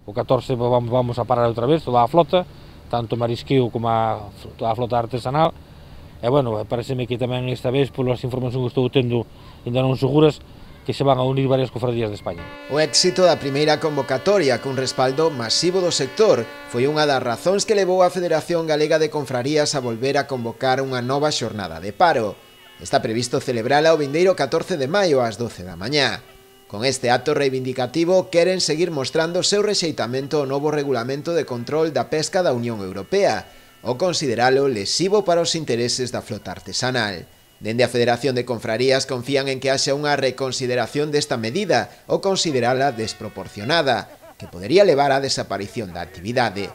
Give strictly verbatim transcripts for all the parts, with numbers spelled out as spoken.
o catorce vamos a parar outra vez, toda a flota, tanto marisqueo como a, toda a flota artesanal, e, bueno, pareceme que tamén esta vez, polas informacións que estou tendo, ainda non seguras, que se van a unir varias cofradías de España. O éxito da primeira convocatoria, cun respaldo masivo do sector, foi unha das razóns que levou a Federación Galega de Confrarías a volver a convocar unha nova xornada de paro. Está previsto celebrala o vindeiro catorce de maio ás doce da mañá. Con este acto reivindicativo queren seguir mostrando o seu rexeitamento ao novo regulamento de control da pesca da Unión Europea, ao consideralo lesivo para os intereses da flota artesanal. Dende a Federación de Confrarías confían en que haxa unha reconsideración desta medida ou considerala desproporcionada, que podería levar á desaparición da actividade,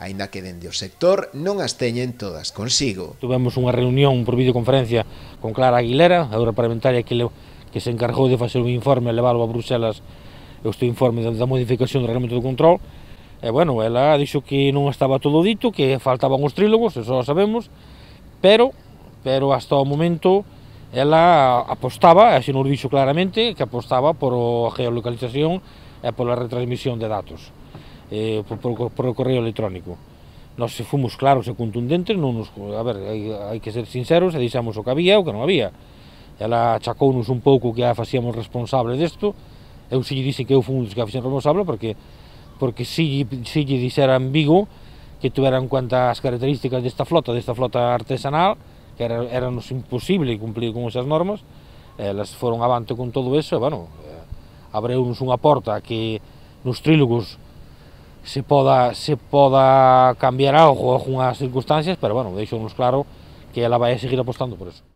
aínda que dende o sector non as teñen todas consigo. Tuvemos unha reunión por videoconferencia con Clara Aguilera, a europarlamentaria que, le, que se encargou de facer un informe e leválo a Bruselas, este informe da modificación do reglamento de control, e, bueno, ela dixo que non estaba todo dito, que faltaban os trílogos, eso lo sabemos, pero... pero hasta o momento ela apostaba, e así nos dixo claramente, que apostaba por a geolocalización e pola retransmisión de datos eh, por, por, por o correo electrónico. Nós fomos claros e contundentes, non nos, a ver, hai, hai que ser sinceros, e dixemos o que había e o que non había. Ela achacounos un pouco que a facíamos responsable desto, eu si lle dixen que eu fui un dos que a fixen responsable, porque, porque si, si lle dixera en Vigo que tuveran en cuenta as características desta flota, desta flota artesanal, que era, era nos imposible cumplir con esas normas, elas foron avante con todo eso, e, bueno, eh, abreunos unha porta que nos trílogos se poda, se poda cambiar algo, algunhas circunstancias, pero, bueno, deixounos claro que ela vai a seguir apostando por eso.